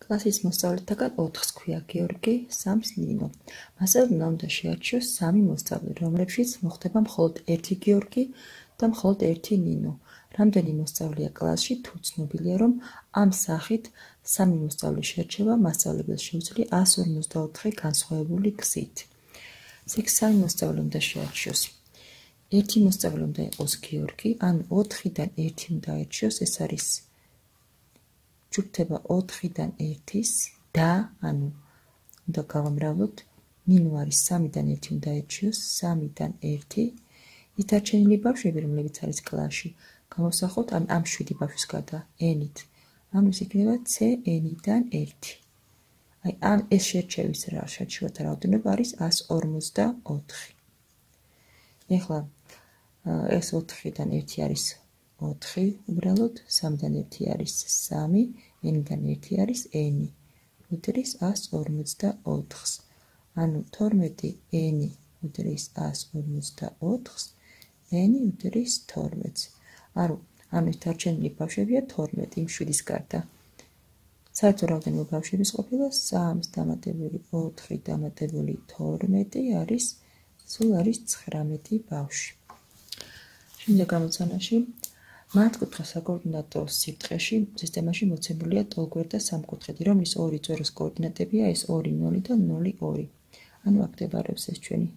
კლასის მოსწავლეთაგან 4-ს ქვია გიორგი, 3-ს ნინო. მასწავლებლმა უნდა შეარჩიოს 3 მოსწავლე, რომლებშიც მოხდება მხოლოდ 1 გიორგი და მხოლოდ 1 ნინო. რამდენი მოსწავლეა კლასში, თუ ცნობილია, რომ ამ სახით 3 მოსწავლე შერჩება მასწავლებელს შეუძლია 154 განსხვავებული გზით. იქ 3 მოსწავლე უნდა შეარჩიოს. 1 მოსწავლე უნდა იყოს გიორგი, ანუ 4-დან 1 უნდა აირჩიოს, ეს არის ჯგუფდება 4-დან 1-ის და, ანუ უნდა გავამრავლოთ, ნინო არის 3-დან 1 უნდა აირჩიოს, 3-დან 1. ის დარჩენილი ბავშვები, რომლებიც არის კლასში, გამოვსახოთ ამ 7 ბავშვის გარდა n-ით. ანუ ის იქნება c-n-დან 1. აი ამ ეს შერჩევის შერჩევათა რაოდენობა არის 154. ეხლა ეს 4-დან 1 არის 4 უბრალოდ, 3-დან 1 არის 3, n-დან 1 არის n. უდრის 154-ს. ანუ 12 n უდრის 154-ს, n უდრის 12-ს. ანუ ეს დარჩენილი ბავშვებია 12 იმ 7-ის გარდა. საერთო რაოდენობა ბავშვების ყოფილა 3 დამატებული 4 დამატებული 12 არის სულ არის 19 ბავშვი. შემდეგ გამოცანაში მართკუთხა საკოორდინატო სიბრტყეში სისტემაში მოცემულია ტოლგვერდა და სამკუთხედი, რომლის ორი წვეროს კოორდინატებია ეს 2 0 და 0 2. ანუ აქ მდებარეობს ეს ჩვენი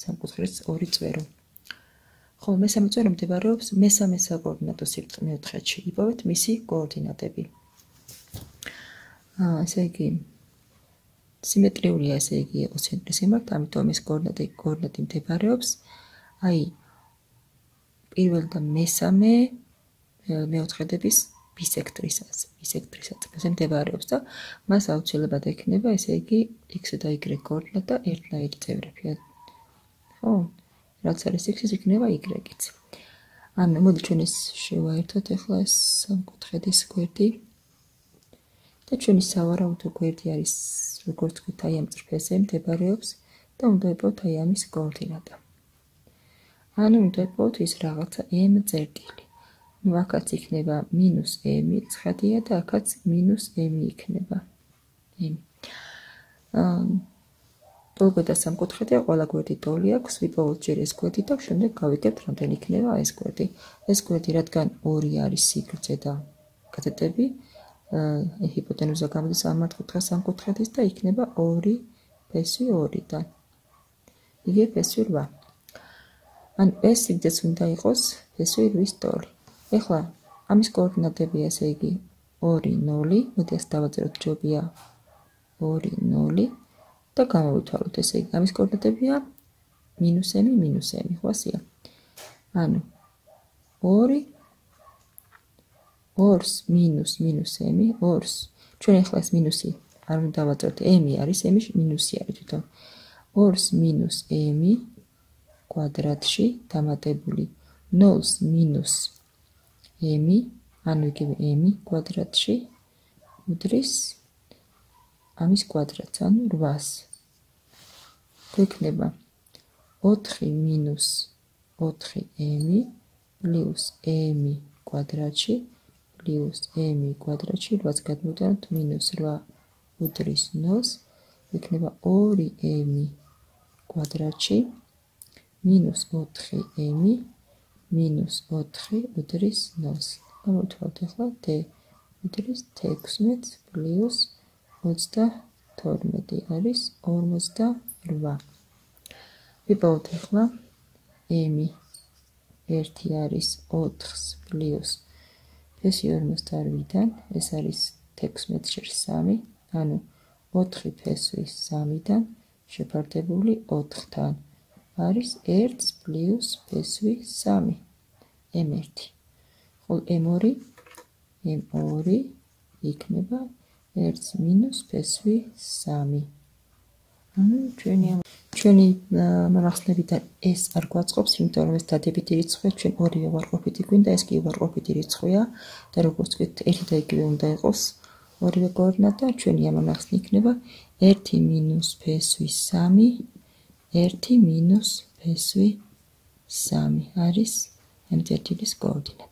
სამკუთხედის ორი წვერო. ხოლო მესამე წვერო მდებარეობს მესამე საკოორდინატო სიბრტყე მეოთხედში. იპოვეთ მისი კოორდინატები. ესე იგი სიმეტრიულია, ესე იგი ეკოცენტრის მიმართ, ამიტომ ეს კოორდინატი მდებარეობს აი პირველ და მესამე მეოთხედების ბისექტრისაზე მდებარეობს და მას აუცილებლად ექნება, ესე იგი x და y კოორდინატა ერთნაირი წევრები. ხო? რაც არის x-ის იქნება y-იც. ანუ მოდი ჩვენ ეს შევაერთოთ ახლა ეს სამკუთხედის გვერდი. და ჩვენი სავარაუდო გვერდი არის როგორც ვთქვით, აი ამ წრფეზე მდებარეობს და უნდა იპოვოთ აი ამის კოორდინატა. ანუ უნდა იპოვოთ ის რაღაცა m წერტილი. ნუ აქაც იქნება -m ცხადია და აქაც -m იქნება. ტოლგვერდა სამკუთხედია, ყველა გვერდი ტოლი აქვს, ვიპოვოთ ჯერ ეს გვერდი და შემდეგ გავიგებთ რამდენი იქნება ეს გვერდი. ეს გვერდი რადგან 2 არის სიგრძე და კათეტები, ჰიპოტენუზა გამოდის ამ მართკუთხა სამკუთხედის და იქნება 2 ფესვი 2-დან. იგივე ფესვი 8. ანუ ეს სიგრძეც უნდა იყოს ფესვი 8-ის ტოლი. ეხლა ამის კოორდინატებია, ესე იგი 2 0, მოდი ეს დავაწეროთ ჯობია 2 0 და გამოვითვალოთ, ესე იგი ამის კოორდინატებია -m, ხო ასეა. ანუ 2 2-ს მინუს -m, 2-ს ჩვენ ახლა ეს მინუსი არ უნდა დავაწეროთ, m არის, m-ში მინუსი არის თვითონ. 2-ს -m კვადრატში დამატებული 0-ს -m, ანუ იგივე m კვადრატში უდრის ამის კვადრატს, ანუ 8-ს. გვექნება 4 - 4m პლუს m კვადრატში პლუს m კვადრატში 8-ს გადმოვიტანოთ -8 უდრის 0-ს, იქნება 2m კვადრატში -4m -4 უდრის 0-ს. გამოვითვალოთ ახლა d უდრის 16 პლუს 32 არის 48. ვიპოვოთ ახლა m 1 არის 4-ს პლუს ფესვი 48-დან, ეს არის 16/3, ანუ 4 ფესვი 3-დან შეფარდებული 4-თან არის 1 პლუს ფესვი 3, m1. ხოლო m2 იქნება 1 მინუს ფესვი 3. ანუ ჩვენი მონახსნებიდან ეს არ გვაწყობს, იმიტომ რომ ეს დადებითი რიცხვია, ჩვენ ორივე უარყოფითი გვინდა, ეს კი უარყოფითი რიცხვია და როგორც ვთქვით, ერთი და იგივე უნდა იყოს ორივე კოორდინატა, ჩვენი ამონახსნი იქნება 1 მინუს ფესვი 3, 1 მინუს ფესვი 3 არის ამ წერტილის კოორდინატა.